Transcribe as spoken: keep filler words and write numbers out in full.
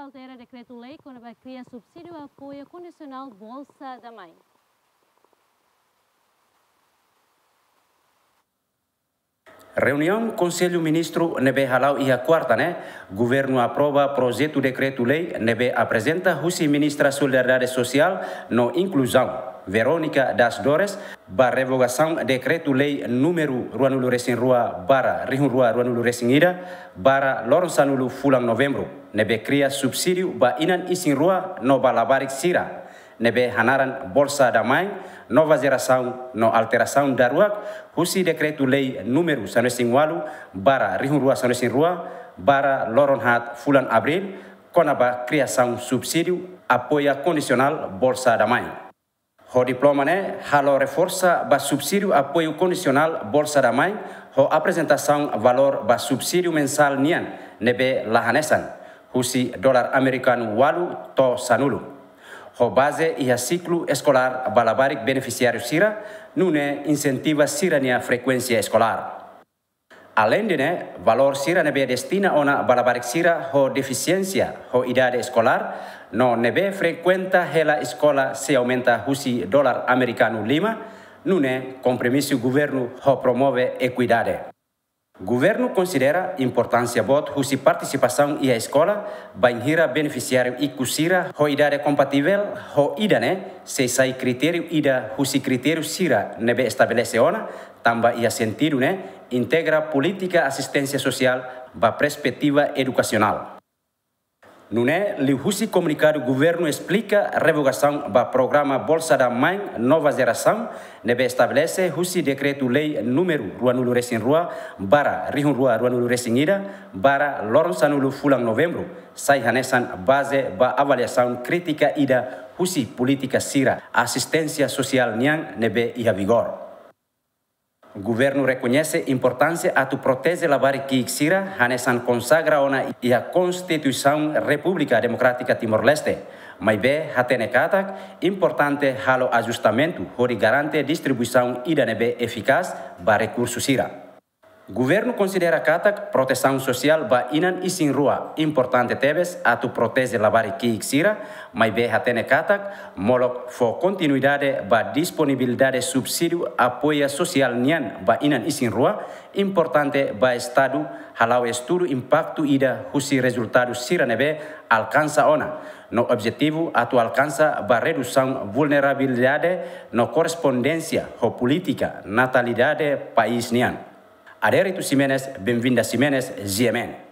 Altera dekretu-lei kona-ba kria subsídiu apoiu kondisionál Bolsa da Mãe. Reuniaun Konsellu Ministru ne'ebé hala'o iha kuarta ne'e, governu aprova projetu dekretu-lei ne'ebé aprezenta husi Ministra Solidariedade Sosiál no Inkluzaun, Verónica das Dores, ba revogasaun dekretu-lei númeru ruanulu-resin-rua barra rihun rua ruanulu-resin-ida barra loron sanulu fulan Novembru, ne'ebé kria subsídiu ba inan isin-rua no ba labarik sira ne'ebé hanaran Bolsa da Mãe, Nova Jerasaun no alterasaun daruak husi dekretu-lei númeru sanulu-resin-ualu barra rihun rua sanulu-resin-rua barra loron haat fulan Abríl, kona-ba kriasaun subsídiu apoiu kondisionál Bolsa da Mãe. Ho diploma ne'e halo reforsa ba subsídiu apoiu kondisionál Bolsa da Mãe, ho aprezentasaun valór ba subsídiu mensál nian ne'ebé la hanesan, husi dolar amerikanu ualu to'o sanulu. Ho baze iha siklu eskolár ba labarik benefisiáriu sira, nune'e insentiva sira-nia frekuénsia eskolár. Aleinde ne'e, valór sira ne'ebé destina ona ba labarik sira ho defisiénsia ho idade eskolár, no ne'ebé frekuenta hela eskola sei aumenta husi dolar amerikanu lima, nune'e kompromisu governu ho promove ekuidade. Governu konsidera importánsia boot husi partisipasaun iha eskola, bainhira benefisiáriu ikus sira ho idade kompativel ho ida-ne'e sei sai kritériu ida husi kritériu sira ne'ebé estabelese ona, tanba iha sentidu ne'e integra polítika asisténsia sosiál ba perspetiva edukasionál. Nune'e liuhusi komunikadu governu esplika revogasaun ba programa Bolsa da Mãe Nova Jerasaun ne'ebé estabelese husi dekretu-lei númeru ruanulu-resin-rua barra rihun rua ruanulu-resin-ida barra loron sanulu fulan Novembru, sai hanesan baze ba avaliasaun krítika ida husi polítika sira asisténsia sosiál nian ne'ebé iha vigór. Governu rekoñese importánsia atu proteje labarik ki'ik sira hanesan konsagra ona iha Konstituisaun Repúblika Demokrátika Timor-Leste, maibé hatene katak importante halo ajustamentu hodi garante distribuisaun ida ne'ebé efikás ba rekursu sira. Governu konsidera katak protesaun sosiál ba inan isin-rua importante tebes atu proteje labarik ki'ik sira, maibé hatene katak molok fó kontinuidade ba disponibilidade subsídiu apoiu sosiál nian ba inan isin-rua importante ba Estadu hala'o estudu impaktu ida husi rezultadu sira ne'ebé alkansa ona, no objetivu atu alkansa ba redusaun vulnerabilidade no korrespondénsia ho polítika natalidade país nian. Adérito Ximenes, Benvinda Ximenes, G M N.